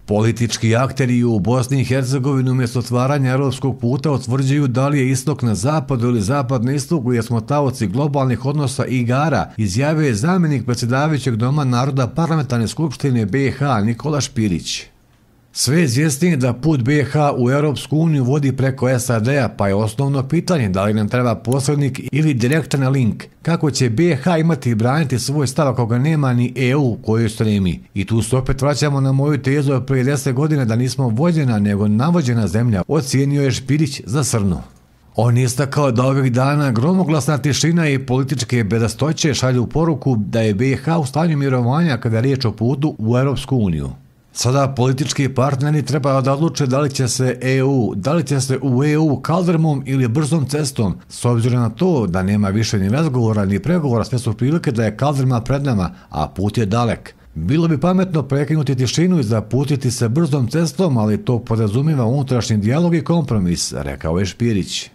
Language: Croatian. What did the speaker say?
Politički akteri u Bosni i Hercegovini umjesto otvaranja europskog puta utvrđuju da li je istok na zapadu ili zapad na istoku jer smo taoci globalnih odnosa i igara, izjavio je zamjenik predsjedavajućeg Doma naroda Parlamentarne skupštine BiH Nikola Špirić. Sve je izvjesnije da put BiH u Europsku uniju vodi preko SAD-a, pa je osnovno pitanje da li nam treba posrednik ili direktan link. Kako će BiH imati i braniti svoj stav ako ga nema ni EU koju stremi? I tu se opet vraćamo na moju tezu od prije 10 godina da nismo vođena nego navođena zemlja, ocijenio je Špirić za Srnu. On je istakao da ovih dana gromoglasna tišina i političke bedastoće šalju poruku da je BiH u stanju mirovanja kada je riječ o putu u Europsku uniju. Sada politički partneri treba da odluče da li će se u EU kaldrmom ili brzom cestom, s obzirom na to da nema više ni razgovora ni pregovora, sve su prilike da je kaldrma pred nama, a put je dalek. Bilo bi pametno prekinuti tišinu i zapustiti se brzom cestom, ali to podrazumijeva unutrašnji dijalog i kompromis, rekao je Špirić.